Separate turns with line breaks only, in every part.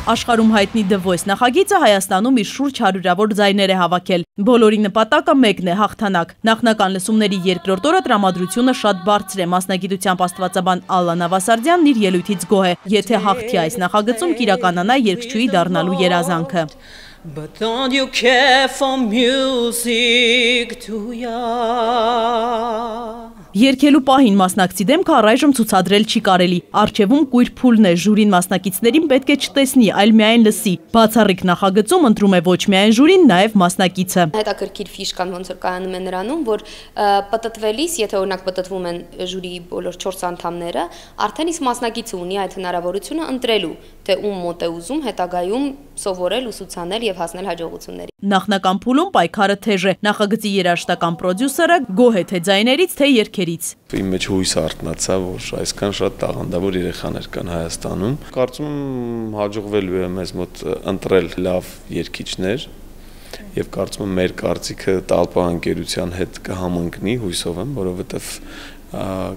Աշխարհում հայտնի The Voice նախագիծը Հայաստանում իր շուրջ 100-ավոր ձայներ է հավաքել։ Բոլորի նպատակը մեկն է՝ հաղթանակ։ Նախնական լսումների երկրորդ օրը տրամադրությունը շատ բարձր է։ Մասնագիտությամբ աստվածաբան Ալլա Նավասարդյանն իր ելույթից գոհ է, եթե հաղթի այս նախագծում կիրականանա երգչուհի դառնալու երազանքը։
But don't you care for music too young?
Երկելու պահին մասնակցի դեմքը առայժմ ցուցադրել չի կարելի։ Առջևում կույր փուլն է, ժյուրին մասնակիցներին պետք է չտեսնի, այլ միայն լսի։ Բացառիկ նախագծում ընտրում է ոչ միայն ժյուրին, նաև մասնակիցը։
Հետաքրքիր ֆիշկան ոնց որ կայանում է նրանում, որ պտտվելիս, եթե օրինակ պտտվում են ժյուրիի բոլոր 4 անդամները, արդեն իսկ մասնակիցը ունի այդ հնարավորությունը ընտրելու, թե ում մոտ է ուզում հետագայում սովորել, ուսուցանել եւ հասնել հաջողությունների։
Նախնական փուլում պայքարը թեժ է։ Նախագծի երաժշտական պրոդյուսերը գոհ է թե ձայներից, թե երգերից։
Իմ մեջ հույս արթնացա, որ այսքան շատ տաղանդավոր երեխաներ կան Հայաստանում։ Կարծում եմ հաջողվելու է մեզ մոտ ընտրել լավ երգիչներ եւ կարծում եմ մեր կարծիքը Տալպա ընկերության հետ կհամընկնի, հույսով եմ, որովհետեւ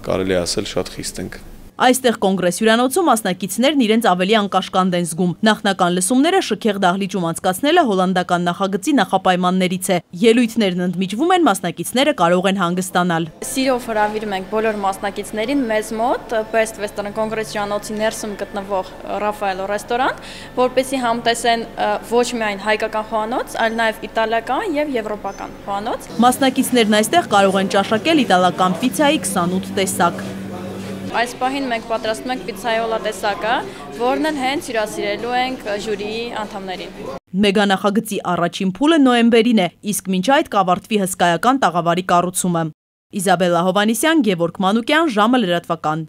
կարելի է ասել շատ խիստ ենք։
Այստեղ կոնգրես հյուրանոցում մասնակիցներն իրենց ավելի անկաշկանդ են զգում։ Նախնական լսումները շքեղ դահլիճում անցկացնելը հոլանդական նախագծի նախապայմաններից է։ Ելույթներն ընդմիջվում են, մասնակիցները կարող են հանգստանալ։
Սիրով հրավիրում ենք բոլոր մասնակիցներին մեզ մոտ Best Western կոնգրես հյուրանոցի ներսում գտնվող Ռաֆայելո ռեստորան, որպեսզի համտեսեն ոչ միայն հայկական խոհանոց, այլ նաև իտալական եւ եվրոպական խոհանոց։
Մասնակիցներն այստեղ կարող են ճաշակել իտալական պիցայի 28 տեսակ։
Այս պահին մենք պատրաստում ենք պիցայոլա տեսակը, որն էլ հենց հյուրասիրելու ենք ժյուրիի անդամներին։
Մեգանախագծի առաջին փուլը նոյեմբերին է, իսկ մինչ այդ կավարտվի հսկայական տաղավարի կառուցումը։ Իզաբելլա Հովանիսյան, Գևորգ Մանուկյան, ժամը լրատվական։